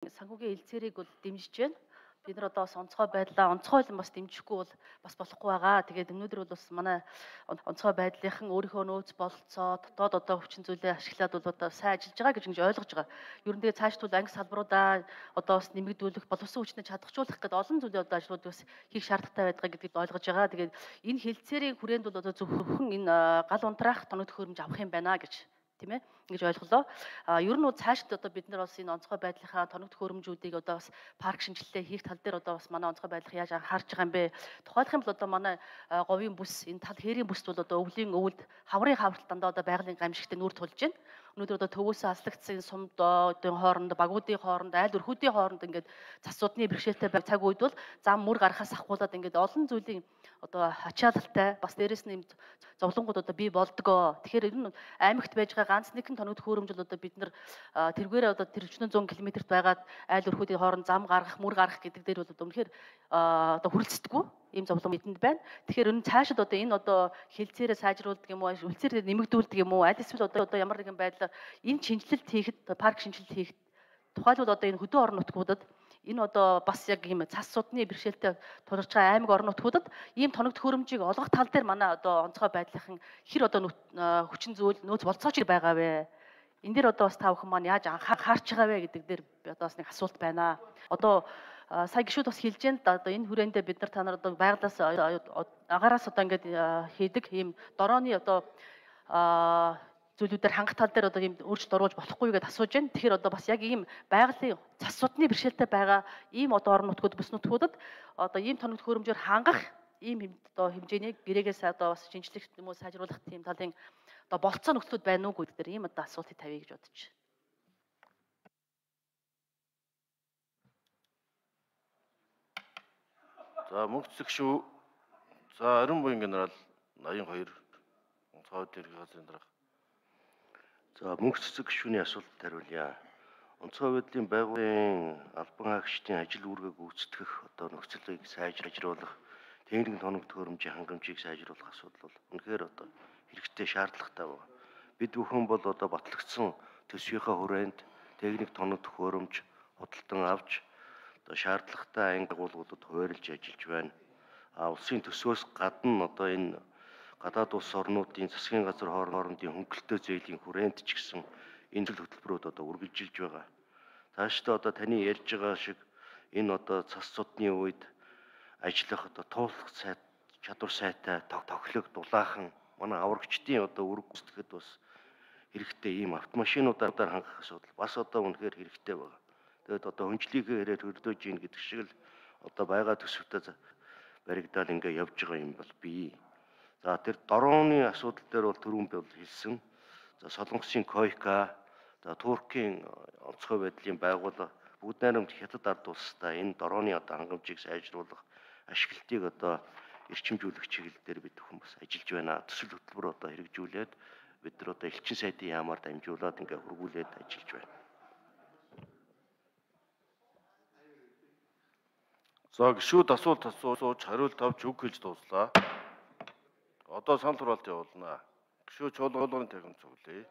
Санхүүгийн хэлцээрийг бол дэмжиж байна. Бид нар одоо бас онцгой байдлаа онцгойлон бас дэмжихгүй бол бас болохгүй байгаа. Тэгээд өнөөдөр бол бас манай онцгой байдлынхан өөрийнхөө нөөц бололцоо дотоод одоо хүчин зүйлээ ашиглаад бол одоо сайн ажиллаж байгаа гэж ингэж ойлгож байгаа. Ер нь тэгээд цаашд бол анги салбаруудаа одоо бас нэмэгдүүлэх, боловсон хүчнээ чадахжуулах гэдэг олон зүйлийн одоо ажлууд бас хийх шаардлагатай байдаг гэдгийг ойлгож байгаа. Тэгээд энэ хэлцээрийн хүрээнд бол одоо зөвхөн энэ гал унтраах тоног төхөөрөмж авах юм байна гэж тийм ээ ингэж ойлголоо. Ер нь цаашд одоо бид нар бас энэ онцгой байдлынхаа тоног төхөөрөмжүүдийг одоо бас парк шинжилгээ хийх тал дээр одоо бас манай онцгой байдлыг яаж анхаарч байгаа юм бэ? Тухайлах юм бол одоо манай говийн бүс энэ тал хээрийн бүст бол одоо өвлийн өвөлд хаврын хавралт дандаа одоо байгалийн гамшигтай нүүр тулж байна. Өнөөдөр одоо төвөөсөө аслагдсан сумдын хооронд, багуудын хооронд, айл өрхүүдийн хооронд ингээд цас судны бэрхшээлтэй байх цаг үед бол зам мөр гарахаас ахгуулаад ингээд олон зүйлийн одоо ачаалалтай бас дээрэс нь юм зовлонгууд одоо бий болдгоо. Тэгэхээр ер нь аймагт байж байгаа ганц нэгэн тоног төхөөрөмж бол одоо бид нар тэргээрээ одоо тэр 400 км-т байгаад айл өрхүүдийн хооронд зам гаргах, мөр гаргах гэдэг дээр бол одоо үнэхээр одоо хүрэлцдэггүй ийм зовлон бидэнд байна. Тэгэхээр энэ цаашид одоо энэ одоо хэлцээрээ сайжруулдаг юм уу, үлцээрээ нэмэгдүүлдэг юм уу, аль эсвэл одоо ямар нэгэн байдлаар энэ шинжилэлт хийхэд, парк шинжилэлт хийхэд тухайлбал одоо энэ хөдөө орон нутгуудад энэ одоо бас яг ийм цас судны бэрхшээлтэй тулгарч байгаа аймаг орон нутгуудад ийм тоног төхөөрөмжийг олгох тал дээр манай одоо онцгой байдлынхан хэр одоо хүчин зүйл нөөц болцооч байгаа вэ? Энэ дээр одоо бас та бүхэн маань яаж анхаарч байгаа вэ гэдэг дээр одоо бас нэг асуулт байна. Одоо сая гişүүд бас хэлж байна да одоо энэ хүрээндээ бид нар та нар одоо байгалаас агаараас одоо ингээд хийдэг ийм дорооны одоо зүйлүүдээр хангах тал дээр одоо ийм өөрчлөлт оруулж болохгүй гэдээ асууж байна. Тэгэхээр одоо бас яг ийм байгалийн цас судны бэрхшээлтэй байгаа ийм одоо орон нутгууд бүс нутгуудад одоо ийм тоног төхөөрөмжөөр хангах ийм одоо хэмжээний гэрээгээс одоо бас шинжлэх юм уу сайжруулах тийм талын одоо болцоо нөхцлүүд байна уугүй гэдэг ийм одоо асуултыг тавья гэж бодож байна. За мөнх цэцэг шүү. За Ариун буян генерал 82 онцгой байдлын газрын дарга. За мөнх цэцэг гишүүний асуултанд хариулъя. Онцгой байдлын байгууллагын албан хаагчдын ажил үүргээг гүйцэтгэх одоо нөхцөлийг сайжруулах, техник тоног төхөөрөмжийн хангамжийг сайжруулах асуудал бол үнэхээр одоо хэрэгтэй шаардлагатай байна. Бид бүхэн бол одоо батлагдсан төсвийнхаа хүрээнд техник тоног төхөөрөмж худалдан авч одоо шаардлагатай анги агуулгуудад хуваарлж ажиллаж байна. Улсын төсвөөс гадна одоо энэ гадаад улс орнуудын засгийн газар хоорондын хөнгөлөлтөө зээлийн хүрээнд ч гэсэн энэ зүйл хөтөлбөрүүд одоо үргэлжилж байгаа. Цаашдаа одоо таны ярьж байгаа шиг энэ одоо цас судны үед ажиллах одоо туулах чадвар сайтай тоглог дулаахан манай аврагчдын одоо үүрэг гүйцэтгэхэд бас хэрэгтэй ийм автомашинуудаар хангах асуудал бас одоо үнэхээр хэрэгтэй байна. Тэгээд одоо хүнчлэгийн хэрээр хөрдөөж ийн гэдэг шиг л одоо байгаа төсөвтэй баригдаал ингээ явж байгаа юм бол бий. За тэр дорооны асуудал дээр бол түрүүн би бол хэлсэн. За Солонгосын Койка, за Туркийн онцгой байдлын байгууллага бүгд найрамд хятад ард улстай энэ дорооны одоо хангамжийг сайжруулах ашиглалтыг одоо эрчимжүүлэх чиглэл дээр бид бүхэн бас ажиллаж байна. Төсөл хөтөлбөр одоо хэрэгжүүлээд бид нар одоо элчин сайдын яамаар дамжуулаад ингээ хургуулээд ажиллаж байна. За гişүүд асуулт асууж хариулт авч үг хэлж дууслаа. Одоо санал хураалт явуулнаа. Гişүүд чуулганы техник зөвлөе.